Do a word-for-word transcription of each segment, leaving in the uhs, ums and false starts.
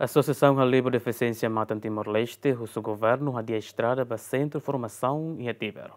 Asosiasaun Halibur Defisiénsia Matan Timor-Leste husu governu hadi'a estrada ba sentru formasaun iha Tibar.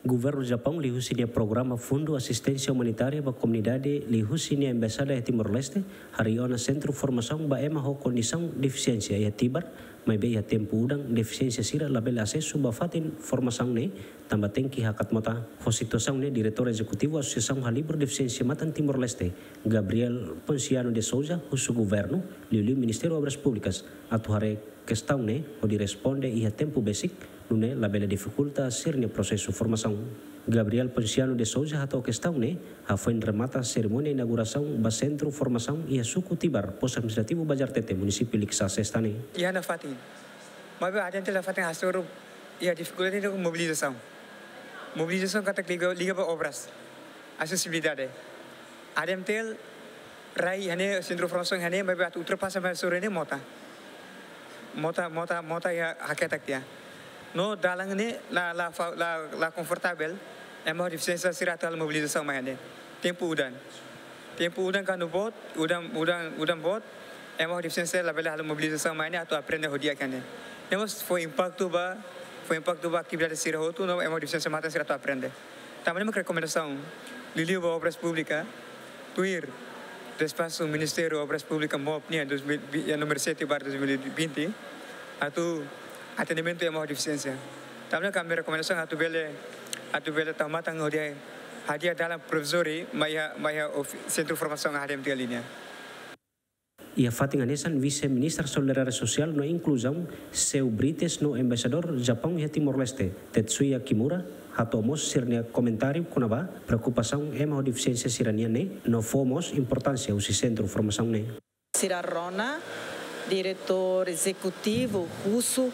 Governu Japaun liuhusi nia programa Fundu Asisténsia Umanitária ba Komunidade liuhusi nia Embaixada iha Timor-Leste harii ona sentru formasaun ba ema ho kondisaun defisiénsia iha Tibar, maibé iha tempu udan defisiénsia sira labele asesu ba fatin formasaun ne'e tanba tenke hakat mota. Ho situasaun ne'e, Diretór Ezekutivu Asosiasaun Halibur Defisiénsia Matan Timor-Leste, Gabriel Ponciano de Sousa, husu governu, liuliu Ministériu Obras Públikas, atu haree kestaun ne'e hodi responde iha tempu besik, nune'e labele difikulta sira-nia prosesu formasaun. Gabriel Ponciano de Sousa hato'o kestaun ne'e hafoin remata serimónia inaugurasaun ba sentru formasaun iha suku Tibar, Postu Administrativu Bajar Tete, Munisípiu Likisá, sesta ne'e. Iha nafatin. Maibé ADMTL nafatin hasoru iha difikuldade iha mobilizasaun. Mobilizasaun katak liga, liga ba obras, asesibilidade. ADMTL rai iha ne'e, sentru formasaun iha ne'e, maibé atu ultrapasa mai hasoru iha ne'e mota. Mota, mota, mota iha haketak tiha. No dalan ne'e la, la fa-, la, la konfortavel ema ho defisiénsia sira atu halo mobilizasaun mai iha ne'e. Tempu udan. Tempu udan kuandu boot, udan, udan, udan boot, ema ho defisiénsia labele halo mobilizasaun mai iha ne'e atu aprende ho di'ak iha ne'e. Ne'e mós fó impaktu ba, fó impaktu ba atividade sira hotu, no ema ho defisiénsia matan sira atu aprende. Tanba ne'e mak rekomendasaun liuliu ba Obras Públikas, tuir despaxu Ministériu Obras Públikas, MOP nian, dois mil, eh, númeru sete barra dois mil e vinte, atu atendimentu ema ho defisiénsia. Tanba ne'e ami rekomendasaun atu bele, atu bele tau matan hodi hadi'a dalan provizóriu mai iha, mai iha ofi-, sentru formasaun ADMTL nian. Iha fatin hanesan, Vise-Ministra Solidariedade Sosiál no Inkluzaun, Seu Brites, no Embaixadór Japaun iha Timor-Leste, Tetsuya Kimura, hato'o mós sira-nia komentáriu kona-ba preokupasaun ema ho defisiénsia sira-nian ne'e, no fó mós importánsia husi sentru formasaun ne'e. Sira rona, Diretór Ezekutivu husu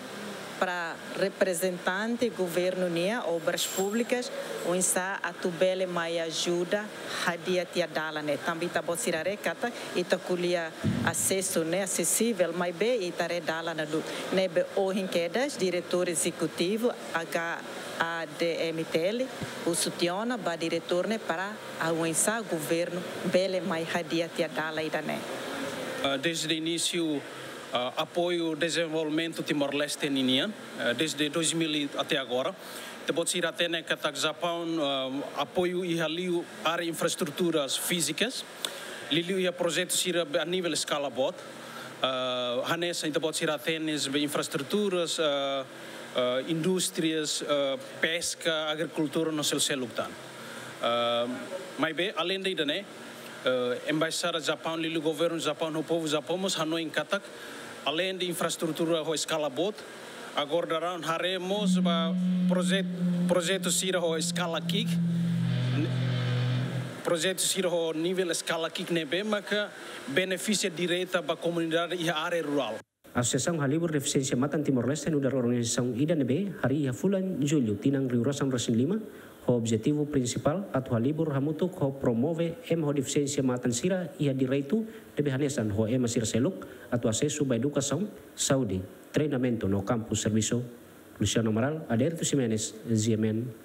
para reprezentante governu nian, Obras Públikas, oinsá atu bele mai ajuda hadi'a tiha dalan ne'e. Tanba ita-boot sira haree katak ita ko'alia asesu ne'e, asesivel, maibé ita haree dalan la duun. Ne'ebé ohin kedas, Diretór Ezekutivu H A D M T L husu tiha ona ba diretór ne'e para oinsá governu bele mai hadi'a tiha dalan ida-ne'e. Ah, desde inísiu, ah, apoiu dezenvolvimentu Timor-Leste ninian, ah, desde dois mil e até agora. Ita-boot sira hatene katak Japaun, ah, apoiu iha liu área infraestruturas fízikas, liuliu iha projetu sira a nível eskala boot. Ah, hanesan ita-boot sira hatene infraestruturas, ah, ah, indústrias, ah, peska, agrikultura no selu-seluk tan. Ah, maibé, aleinde ida-ne'e, ah, Embaixada Japaun, liuliu governu Japaun, no povu Japaun mós hanoin katak, aleinde infraestrutura ho eskala boot, agora daudaun haree mós ba projet-, projetu sira ho eskala ki'ik, ne-, projetu sira ho nivel eskala ki'ik ne'ebé maka benefisia direta ba komunidade iha área rurál. Asosiasaun Halibur Defisiénsia Matan Timor-Leste nu'udar organizasaun ida ne'ebé harii iha fulan Jullu tinan rihun rua sanulu-resin-lima, ho objetivu prinsipál atu halibur hamutuk ho promove ema ho defisiénsia matan sira iha direitu ne'ebé hanesan ho ema sira seluk atu asesu ba edukasaun, saúde, treinamentu no kampu servisu. Luciano Amaral, Adérito Ximenes, G M N.